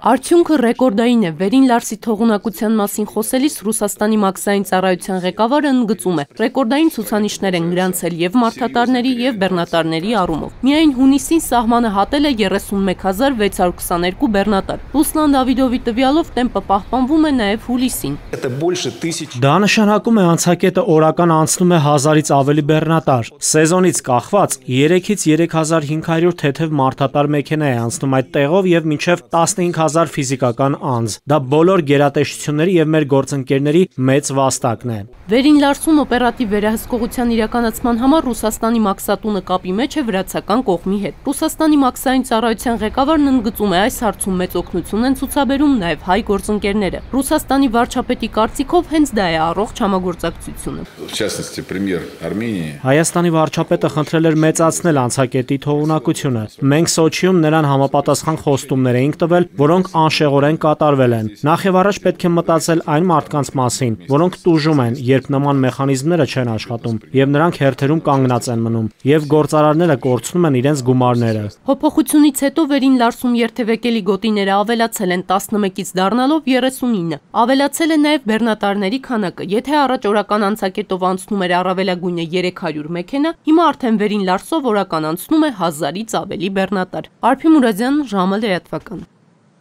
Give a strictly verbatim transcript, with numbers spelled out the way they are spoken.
Արդյունքը ռեկորդային է։ Վերին Լարսի թողունակության մասին խոսելիս Ռուսաստանի մաքսային ծառայության ղեկավարը ընդգծում է. ռեկորդային ցուցանիշներ են գրանցել եւ մարդատարների եւ բեռնատարների առումով։ Միայն հունիսին սահմանը հատել է երեսունմեկ հազար վեց հարյուր քսաներկու բեռնատար։ Ռուսլան Դավիդովի տվյալով տեմպը պահպանվում է նաեւ հուլիսին։ Դա նշանակում է անցակետը օրական անցնում է հազարից ավելի բեռնատար։ Սեզոնից կախված երեքից երեք հազար հինգ հարյուր թեթև մարդատար մեքենա է անցնում այդ տեղով եւ մինչեւ տասնհինգ հազար ֆիզիկական անձ։ Դա բոլոր գերատեսչությունների եւ մեր գործընկերների մեծ վաստակն է։ Վերին Լարսում օպերատիվ վերահսկողության իրականացման համար Ռուսաստանի մաքսատունը կապի մեջ է վրացական կողմի հետ։ Ռուսաստանի մաքսային ծառայության ղեկավարն ընդգծում է, այս հարցում մեծ օգնություն են ցուցաբերում նաեւ հայ գործընկերները։ Ռուսաստանի վարչապետի կարծիքով հենց դա է առողջ համագործակցությունը։ Հայաստանի վարչապետը խնդրել էր մեծացնել անցակետի թողունակությունը։ Մենք Սոչիում նրան համապատասխան խոստումներ էինք տվել, որոնք անշեղորեն կատարվել են։ Նախ եւ առաջ պետք է մտածել այն մարդկանց մասին, որոնք տուժում են, երբ նման մեխանիզմները չեն աշխատում, եւ նրանք հերթերում կանգնած են մնում, եւ գործարարները կորցնում են իրենց գումարները։ Փոփոխությունից հետո Վերին Լարսում երթևեկելի գոտիները ավելացել են տասնմեկից դառնալով երեսունինը։ Ավելացել է նաեւ բեռնատարների քանակը։ Եթե առաջ օրական անցակետով անցնում էր առավելագույնը երեք հարյուր մեքենա, հիմա արդեն Վերին Լարսով օրական անցնում է հազարից ավելի բեռնատար։ Արփի Մուրադյան, ժամը լրատվական։